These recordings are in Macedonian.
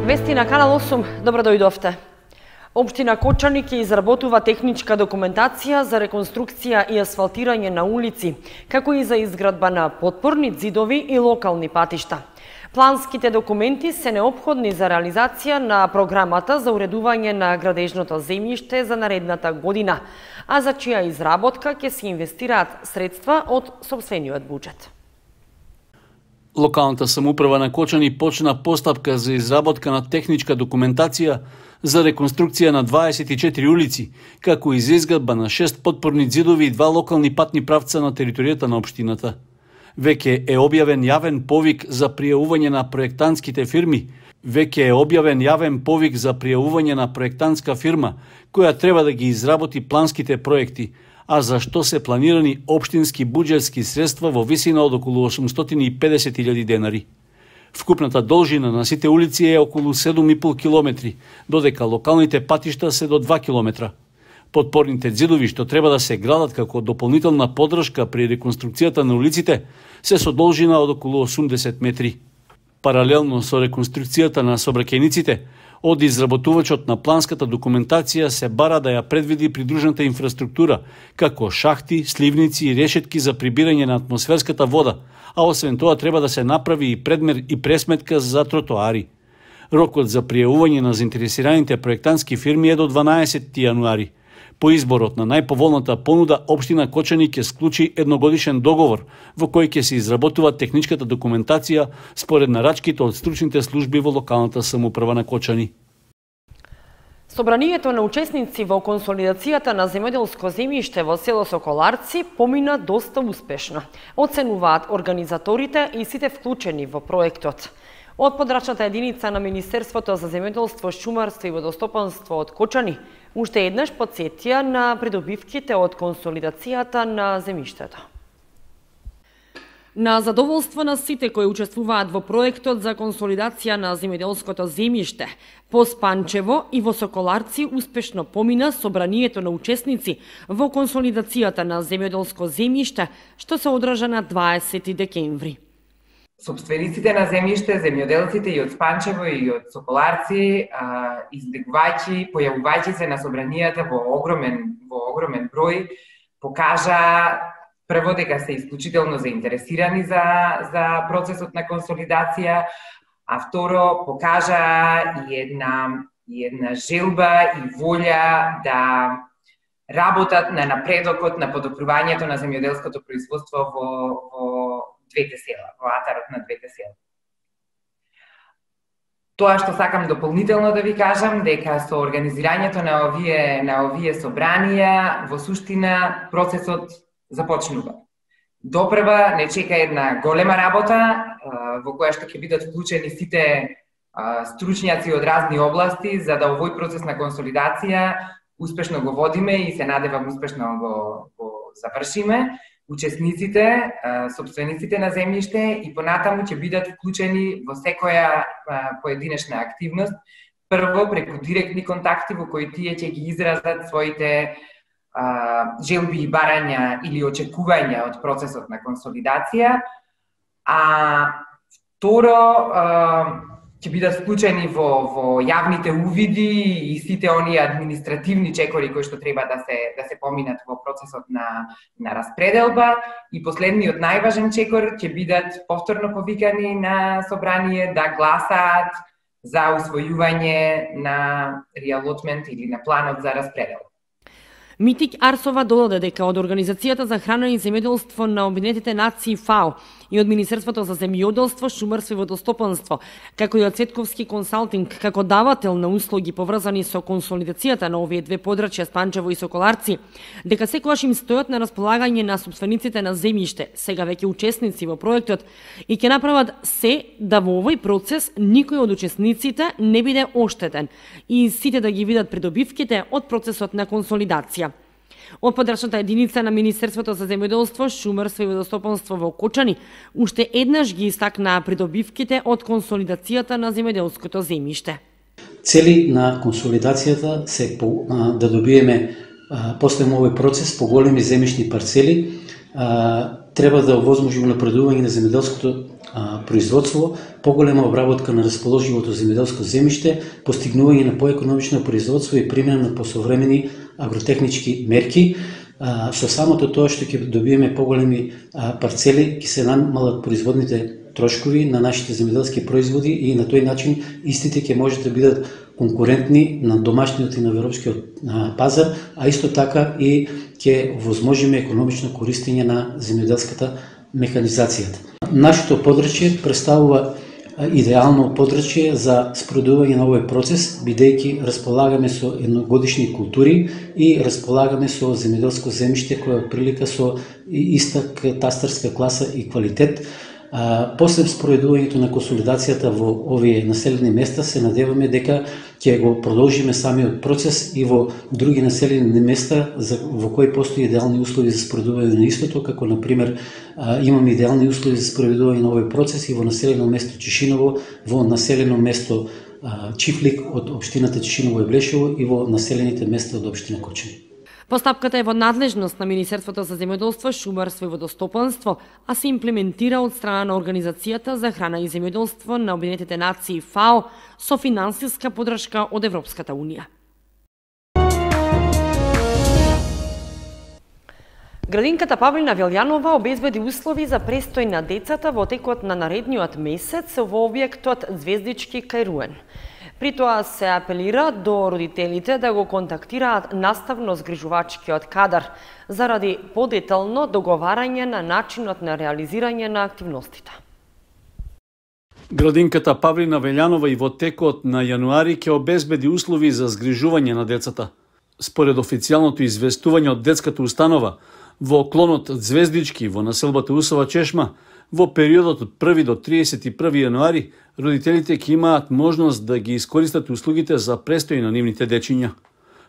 Вести на Канал 8, добро дојдовте. Општина Кочани ќе изработува техничка документација за реконструкција и асфалтирање на улици, како и за изградба на потпорни ѕидови и локални патишта. Планските документи се неопходни за реализација на програмата за уредување на градежното земјиште за наредната година, а за чија изработка ќе се инвестираат средства од сопствениот буџет. Локалната самоуправа на Кочани почна постапка за изработка на техничка документација за реконструкција на 24 улици, како и за изградба на 6 потпорни ѕидови и 2 локални патни правца на територијата на општината. Веќе е објавен јавен повик за пријавување на проектантските фирми. На проектантска фирма, која треба да ги изработи планските проекти, а за што се планирани општински буџетски средства во висина од околу 850.000 денари. Вкупната должина на сите улици е околу 7,5 километри, додека локалните патишта се до 2 километра. Потпорните ѕидови што треба да се градат како дополнителна поддршка при реконструкцијата на улиците се со должина од околу 80 метри. Паралелно со реконструкцијата на сообраќајниците, од изработувачот на планската документација се бара да ја предвиди придружната инфраструктура, како шахти, сливници и решетки за прибирање на атмосферската вода, а освен тоа треба да се направи и предмер и пресметка за тротоари. Рокот за пријавување на заинтересираните проектантски фирми е до 12 јануари. По изборот на најповолната понуда, општина Кочани ќе склучи едногодишен договор во кој ќе се изработува техничката документација според нарачките од стручните служби во локалната самоуправа на Кочани. Собранието на учесници во консолидацијата на земјоделско земјиште во село Соколарци помина доста успешно, оценуваат организаторите и сите вклучени во проектот. Од подрачната единица на Министерството за земјоделство, шумарство и водостопанство од Кочани уште еднаш потсетија на придобивките од консолидацијата на земјиштето. На задоволство на сите кои учествуваат во проектот за консолидација на земјоделското земјиште, по Спанчево и во Соколарци успешно помина собранието на учесници во консолидацијата на земјоделско земјиште, што се одржа на 20 декември. Собствениците на земјиште, земјоделците и од Спанчево и од Соколарци, избегувајќи, појавувајќи се на собранијата во огромен број, покажа прво дека се исклучително заинтересирани за процесот на консолидација, а второ покажа и една желба и волја да работат на напредокот на подобрувањето на земјоделското производство во двете села, во атарот на двете села. Тоа што сакам дополнително да ви кажам, дека со организирањето на овие собранија, во суштина процесот започнува. Допрва не чека една голема работа, во која што ќе бидат вклучени сите стручњаци од разни области, за да овој процес на консолидација успешно го водиме и се надевам успешно го завршиме. Учесниците, собствениците на земјиште и понатаму ќе бидат вклучени во секоја поединечна активност, прво преку директни контакти во кои тие ќе ги изразат своите желби и барања или очекувања од процесот на консолидација, а второ ќе бидат вклучени во јавните увиди и сите оние административни чекори кои што треба да се поминат во процесот на распределба, и последниот најважен чекор ќе бидат повторно повикани на собрание да гласаат за усвојување на реалотмент или на планот за распределба. Митик Арсова додаде дека од Организацијата за храна и земјоделство на Обединетите нации ФАО и од Министерството за земјоделство, шумарство и водостопанство, како и од Цветковски консалтинг, како давател на услуги поврзани со консолидацијата на овие две подрачја Спанчево и Соколарци, дека секогаш им стојат на располагање на собствениците на земјиште, сега веќе учесници во проектот, и ќе направат се да во овој процес никој од учесниците не биде оштетен и сите да ги видат придобивките од процесот на консолидација. Од подрачната единица на Министерството за земјоделство, шумарство и водостопанство во Кочани уште еднаш ги истакнаа придобивките од консолидацијата на земјоделското земјиште. Цели на консолидацијата се да добиеме после овој процес поголеми земјишни парцели, треба да овозможи унапредување на земјоделското производство, поголема обработка на расположивото земјоделско земјиште, постигнување на поекономично производство и примена на посовремени агротехнички мерки. Со самото тоа што ќе добиеме поголеми парцели, ќе се намалат производните трошкови на нашите земјоделски производи и на тој начин истите ќе можат да бидат конкурентни на домашниот и на европскиот пазар, а исто така и ќе возможиме економично користење на земјоделската механизацијата. Нашето подрачје представува идеално подрачје за спроведување на овој процес, бидејќи располагаме со едногодишни култури и располагаме со земјоделско земјиште кое отприлика со иста катастарска класа и квалитет. После спроведувањето на консолидацијата во овие населени места се надеваме дека ќе го продолжиме самиот процес и во други населени места во кои постои идеални услови за спроведување на истото, како на пример имаме идеални услови за спроведување на овој процес и во населено место Чишиново, во населено место Чифлик од општината Чишиново и Блешево и во населените места од општина Кочани. Постапката е во надлежност на Министерството за земјоделство, шумарство и водостопанство, а се имплементира од страна на Организацијата за храна и земјоделство на Обединетите нации ФАО со финансиска поддршка од Европската унија. Градинката Павлина Велјанова обезбеди услови за престој на децата во текот на наредниот месец во објектот Звездички кај Руен. При тоа се апелира до родителите да го контактираат наставно згрижувачкиот кадар заради подетално договарање на начинот на реализирање на активностите. Градинката Павлина Велјанова и во текот на јануари ќе обезбеди услови за згрижување на децата. Според официјалното известување од детската установа, во клонот Звездички во населбата Усова Чешма, во периодот од 1 до 31 јануари, родителите ќе имаат можност да ги искористат услугите за престој на нивните дечиња.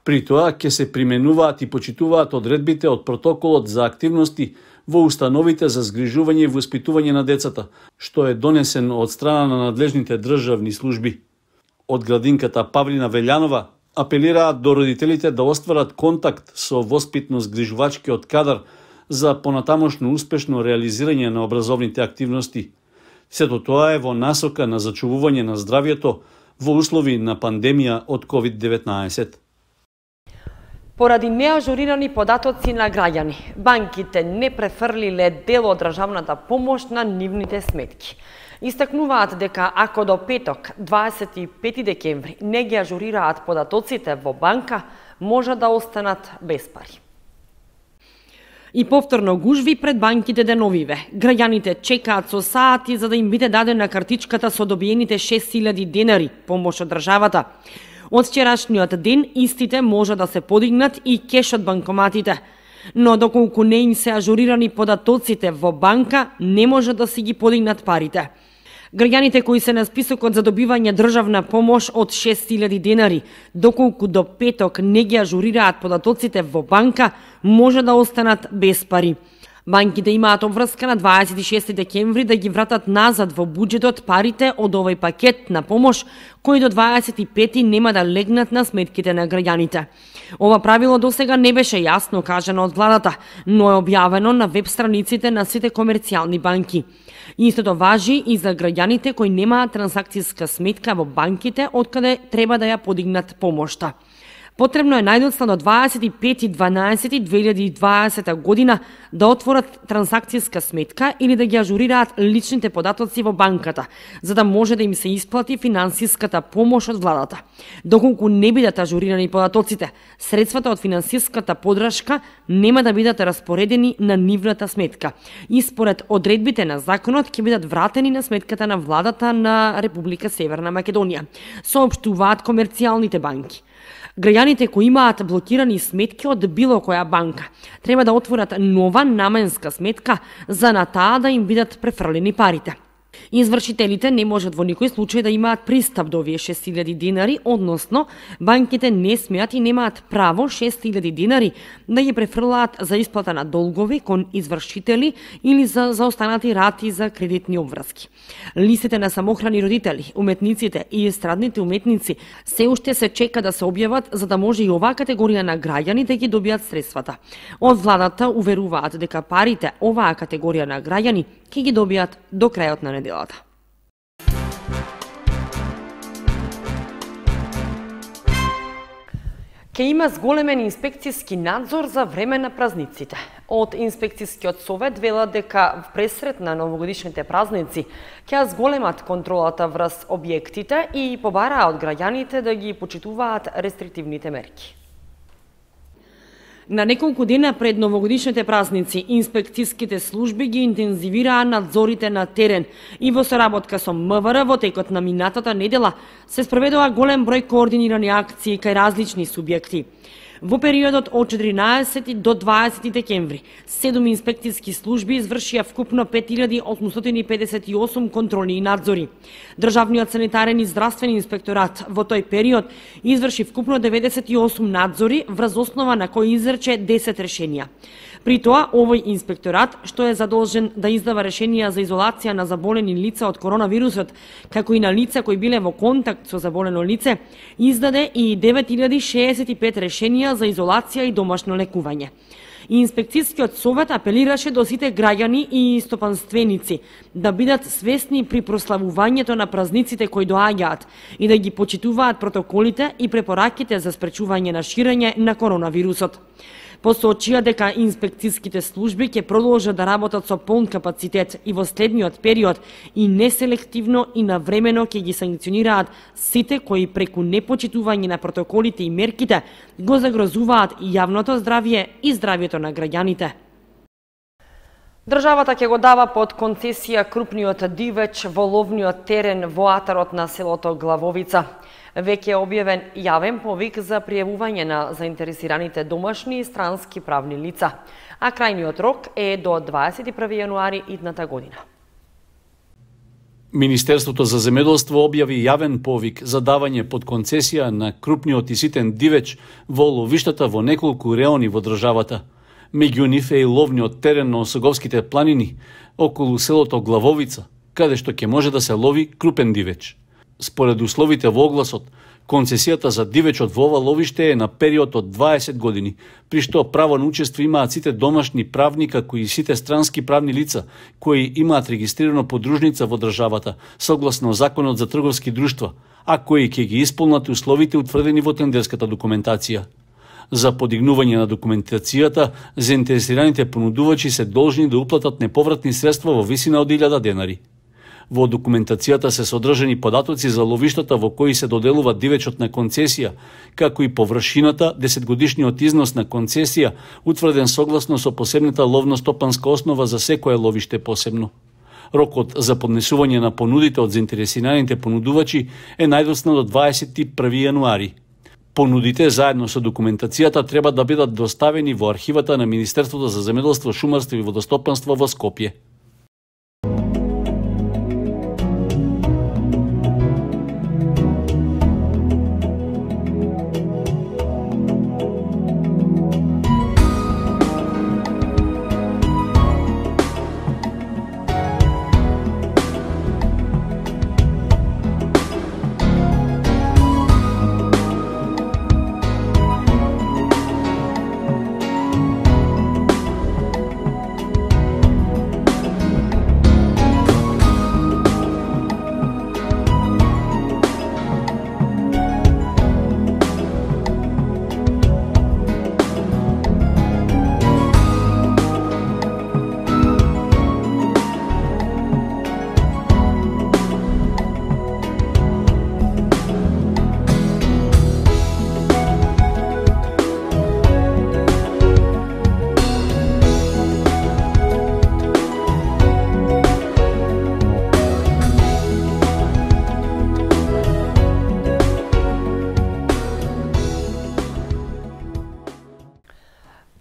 При тоа ќе се применуваат и почитуваат одредбите од протоколот за активности во установите за згрижување и воспитување на децата, што е донесен од страна на надлежните државни служби. Од градинката Павлина Велјанова апелираат до родителите да остварат контакт со воспитно-згрижувачкиот кадар за понатамошно успешно реализирање на образовните активности. Сето тоа е во насока на зачувување на здравјето во услови на пандемија од COVID-19. Поради неажурирани податоци на граѓани, банките не префрлиле дел од државната помош на нивните сметки. Истакнуваат дека ако до петок, 25 декември, не ги ажурираат податоците во банка, може да останат без пари. И повторно гужви пред банките деновиве. Граѓаните чекаат со сати за да им биде дадена картичката со добиените 6000 денари помош од државата. Од вчерашниот ден истите може да се подигнат и кеш од банкоматите. Но доколку не им се ажурирани податоците во банка, не може да си ги подигнат парите. Граѓаните кои се на списокот за добивање државна помош од 6000 денари, доколку до петок не ги ажурираат податоците во банка, може да останат без пари. Банките имаат обврска на 26 декември да ги вратат назад во буџетот парите од овој пакет на помош, кои до 25 нема да легнат на сметките на граѓаните. Ова правило досега не беше јасно кажано од владата, но е објавено на веб страниците на сите комерцијални банки. Истото важи и за граѓаните кои немаат трансакцијска сметка во банките откаде треба да ја подигнат помошта. Потребно е најдоцна до 25.12.2020 година да отворат трансакцијска сметка или да ги ажурираат личните податоци во банката, за да може да им се исплати финансиската помош од владата. Доколку не бидат ажурирани податоците, средствата од финансиската поддршка нема да бидат распоредени на нивната сметка и според одредбите на законот ќе бидат вратени на сметката на владата на Република Северна Македонија, соопштуваат комерцијалните банки. Граѓаните кои имаат блокирани сметки од било која банка треба да отворат нова наменска сметка за на таа да им бидат префрлени парите. Извршителите не можат во никој случај да имаат пристап до овие 6.000 денари, односно банките не смеат и немаат право 6.000 денари да ги префрлаат за исплата на долгови кон извршители или за заостанати рати за кредитни обврски. Листите на самохрани родители, уметниците и естрадните уметници се уште се чека да се објават за да може и оваа категорија на граѓани да ги добијат средствата. Од владата уверуваат дека парите оваа категорија на граѓани ќе ги добијат до крајот на неделата. Ке има зголемен инспекцијски надзор за време на празниците. Од инспекцијскиот совет велат дека пресред на новогодишните празници ќе зголемат контролата врз објектите и побараа од граѓаните да ги почитуваат рестриктивните мерки. На неколку дена пред новогодишните празници, инспекцијските служби ги интензивираа надзорите на терен и во соработка со МВР во текот на минатата недела се спроведува голем број координирани акции кај различни субјекти. Во периодот од 14 до 20 декември, 7 инспекцијски служби извршија вкупно 5858 контролни надзори. Државниот санитарен и здравствен инспекторат во тој период изврши вкупно 98 надзори врз основа на кои изрече 10 решенија. При тоа, овој инспекторат, што е задолжен да издава решенија за изолација на заболени лица од коронавирусот, како и на лица кои биле во контакт со заболено лице, издаде и 9065 решенија за изолација и домашно лекување. Инспекцијскиот совет апелираше до сите граѓани и стопанственици да бидат свесни при прославувањето на празниците кои доаѓаат и да ги почитуваат протоколите и препораките за спречување на ширење на коронавирусот. Посочија дека инспекцијските служби ќе продолжат да работат со полн капацитет и во следниот период и неселективно и навремено ќе ги санкционираат сите кои преку непочитување на протоколите и мерките го загрозуваат и јавното здравје и здравјето на граѓаните. Државата ќе го дава под концесија крупниот дивеч во ловниот терен во атарот на селото Главовица. Веќе е објавен јавен повик за пријавување на заинтересираните домашни и странски правни лица, а крајниот рок е до 21 јануари идната година. Министерството за земјоделство објави јавен повик за давање под концесија на крупниот и ситен дивеч во ловиштата во неколку реони во државата. Меѓу нив е и ловниот терен на Осоговските планини, околу селото Главовица, каде што ќе може да се лови крупен дивеч. Според условите во огласот, концесијата за дивечот во ова ловиште е на период од 20 години, при што право на учество имаат сите домашни правни како и сите странски правни лица кои имаат регистрирано подружница во државата, согласно Законот за трговски друштва, а кои ќе ги исполнат условите утврдени во тендерската документација. За подигнување на документацијата, заинтересираните понудувачи се должни да уплатат неповратни средства во висина од 1000 денари. Во документацијата се содржани податоци за ловиштата во кои се доделува дивечот на концесија, како и површината, 10-годишниот износ на концесија, утврден согласно со посебната ловно-стопанска основа за секое ловиште посебно. Рокот за поднесување на понудите од заинтересираните понудувачи е најдоцна до 21 јануари. Понудите заедно со документацијата треба да бидат доставени во архивата на Министерството за земјоделство, шумарство и водостопанство во Скопје.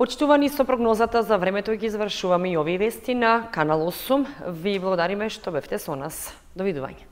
Почитувани, со прогнозата за времето ги завршуваме и овие вести на Канал 8. Ви благодариме што бевте со нас. Довидување.